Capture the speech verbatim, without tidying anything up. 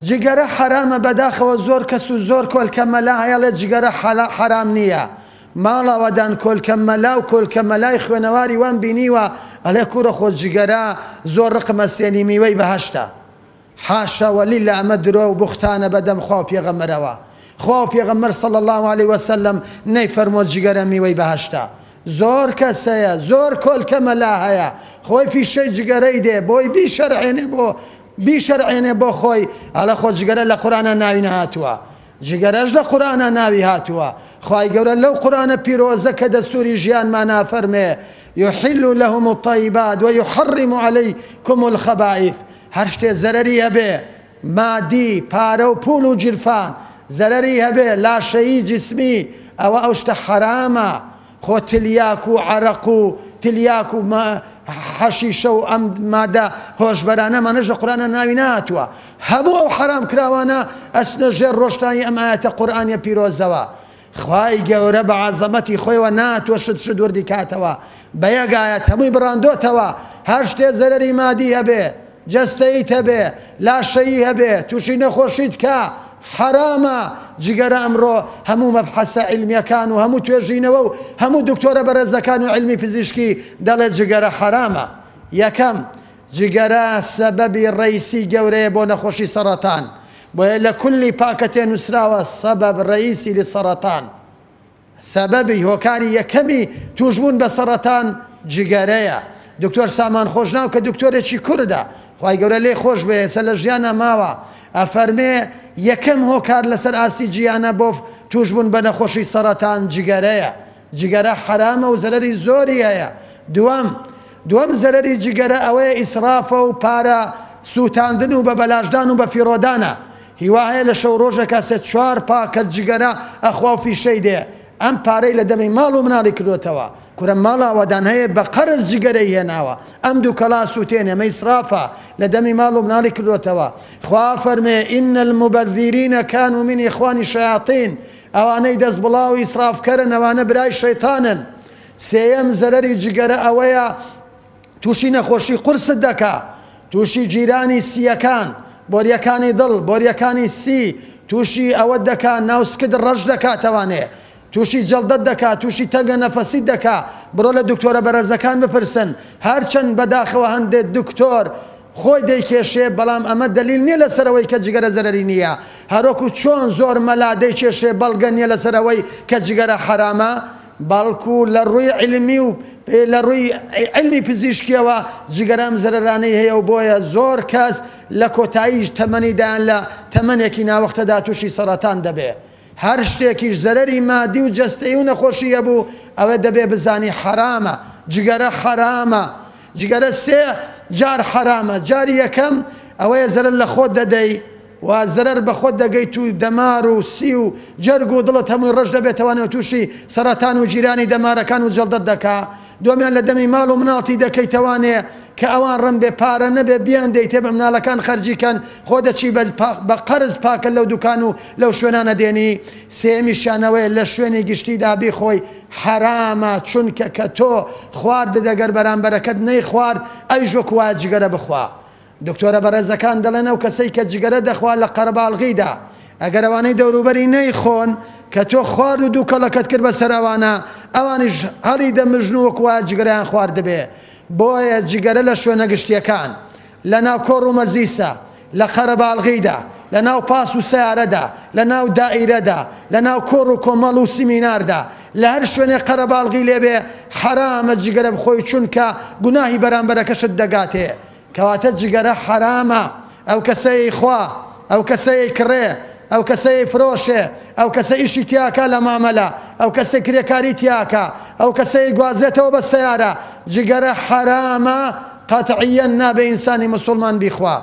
جگەرە حەرامە بەداخەوە زۆر کەس و زۆر کۆلکە مەلا هەیەڵێ جگەرە حەرام نییە. ماڵەوەدان کۆلکە مەلا و کۆلکە مەلای خوێنەواری وان بینیوە ئەڵێ کوڕە خۆ جگەرە زۆر ڕقمە سێنی میوەی بەهەشتە. حاشا ولله ئەمە درۆ و بوختانە بەدەم خوا و پێغەمبەرەوە. خوا و پێغەمبەر صلی الله علیه وسلم نەیفەرمووە جگەرە میوەی بەهەشتە. زۆر کەس هەیە، زۆر کۆلکە مەلا هەیە خۆی فیشەی جگەرەی دێ بۆی بیشەرعێنێ بۆ بیشەرعێنێ بۆ خۆی، ئەڵێ خۆ جگەرە لە قورئانا ناوی نەهاتووە. جگەرەش لە قورئانا ناوی هاتووە. خوای گەورە لەو قورئانە پیرۆزە کە دەستوری ژیانمان نافەرمێ یحل لهم الطیبات ویحرم علیکم الخبائث. هەر شتێ زەرەری هەبێ مادی پارە و پوڵ و جیرفان زەرەری هەبێ لاشەیی جسمی ئەوە ئەو شتە حەرامە. خۆ تلیاک و عەرەق و تلیاک و حەشیشە و ئەم مادە هۆشبەرانە مانەش لە قورئانە ناوی نەهاتووە. هەموو ئەو حەرام کراوانە ئەچنە ژێر ڕۆشتانی ئەم ئایەتە قورئانیە پیرۆزەوە. خوای گەورە بە عەزەمەتی خۆیەوە ناتوە شت شت وردی کاتەوە، بە یەک ئایەت هەمووی بڕاندۆتەوە. هەر شتێ زەرەری مادی هەبێ، جەستەییت هەبێ، لاشەیی هەبێ، تووشی نەخۆشیت کە حەرامە. جگەرە ئەمڕۆ هەموو مەبحەسە عیلمیەکان و هەموو توێژینەوە و هەموو دکتۆرە بەرەزەکان و عیلمی پزیشکی دەڵێ جگەرە حەرامە. یەکەم، جگەرە سەبەبی ڕەئیسی گەورەیە بۆ نەخۆشی سەرەتان، بۆیە لە کولی پاکەتێ نووسراوە سەبەب ڕەئیسی لسەرەتان. سەبەبی هۆکاری یەکەمی توشبوون بە سەرەتان جگەرەیە. دکتۆر سامان خۆشناو کە دکتۆرێکی کوردە، خوای گەورە لێی خۆش بێ، ئێستا لە ژیانە ماوە، ئەفەرمێ یەکەم هۆکار لەسەر ئاستی جیهانە بۆ توشبوون بە نەخۆشی سەرەتان جگەرەیە. جگەرە حەرامە و زەرەری زۆری هەیە. دووەم دووەم زەرەری جگەرە ئەوەیە ئیسرافە و پارە سووتاندن و بە بەلاشدان و بە فیڕۆدانە. هیوا هەیە لە شەو ڕۆژێکا سێ چوار پاکەت جگەرە ئەخوا و فیشەی دێ، ئەم پارەی لە دەمی ماڵ و مناڵی کردوتەوە. کورە ماڵاوەدان هەیە بە قەرز جگەرەی هێناوە، ئەم دوو کەڵا سووتێنێ، ئەمە ئیسرافە، لە دەمی ماڵ و مناڵی کردوتەوە. خوا فەرمێ ئین المبذرین كانوا من إخوان الشیاطین، ئەوانەی دەست بڵاو ئیسرافکەرن ئەوانە برای شەیطانن. سێیەم زەرەری جگەرە ئەوەیە تووشی نەخۆشی قورست دەکا، تووشی جیرانی سیەکان، بۆریەکانی دڵ، بۆریەکانی سی، تووشی ئەوە دەکا ناوسکت ڕەش دەکاتەوانێ، تووشی جەڵدەت دەکا، تووشی تەنگە نەفەسیت دەکا. بڕۆ لە دکتۆرە بەرەزەکان بپرسن. هەرچەند بەداخەوە هەندێک دکتۆر خۆی دەیکێشێ، بەڵام ئەمە دەلیل نییە لەسەرەوەی کە جگەرە زەرەری نییە. هەروەکو چۆن زۆر مەلا دەیکێشێ بەڵگە نییە لەسەرەوەی کە جگەرە حەرامە، بەڵکو لە ڕووی عیلمی و لە ڕووی عیلمی پزیشکیەوە جگەرە ئەم زەرەرانەی هەیە و بۆیە زۆر کەس لە کۆتایی تەمەنیدایان لە تەمەنێکی ناوەختەدا تووشی سەرەتان دەبێ. هەر شتێکیش زەرەری مادی و جەستەیی و نەخۆشی هەبوو ئەوە دەبێ بزانی حەرامە. جگەرە حەرامە. جگەرە سێ جار حەرامە. جاری یەکەم ئەوەیە زەرەر لە خۆت دەدەی و زەرەر بە خۆت دەگەیت و دەمار و سی و جەرگ و دڵت هەمووی ڕەش دەبێتەوانەوە تووشی سەرەتان و جیرانی دەمارەکان و جەڵدەت دەکا. دووەمیان لە دەمی ماڵ و مناڵتی دەکەیتەوانێ کە ئەوان ڕم بێ پارە نەبێ بیان دەیتێ بە مناڵەکان خەرجیکەن، خۆ دەچی بە قەرز پاکە لەو دوکان و لەو شوێنانە دێنی. سێمیشیانەوەیە لە شوێنی گشتیدا بیخۆی حەرامە، چونکە کە تۆ خواردت ئەگەر بەرامبەرەکەت نەیخوارد ئەویش وەکو وایە جگەرە بخوا. دکتۆرە بەڕێزەکان دەڵێن ئەو کەسەی کە جگەرە دەخوا لە قەرەباڵغیدا ئەگەر ئەوانەی دەوروبەری نەیخۆن کە تۆ خوارد و دوو کەڵەکەت کرد بەسەر ئەوانە، ئەوانیش هەڵی دەمژن و وەکو وایە جگەرەیان خواردبێ. بۆیە جگەرە لە شوێنە گشتیەکان، لە ناو کۆڕ و مەزیسە، لە قەرەباڵغیدا، لە ناو پاس و سیارەدا، لە ناو دائیرەدا، لە ناو کۆڕ و کۆمەڵ و سیمیناردا، لە هەر شوێنێ قەرەباڵغی لێبێ حەرامە جگەرە بخۆی، چونکە گوناهی بەرامبەرەکەشت دەگاتێ. کەواتە جگەرە حەرامە. ئەو کەسەی خوا، ئەو کەسەی کڕێ، ئەو کەسەی فرۆشێ، ئەو کەسە ئیشی تیاکە لە مامەلە، ئەو کەسەی کرێکاری تیاکە، ئەو کەسەی گوازێتەوە بە سەیارە، جگەرە حەرامە. قەتعیەن نابێ ئینسانی مسلمان بیخوا.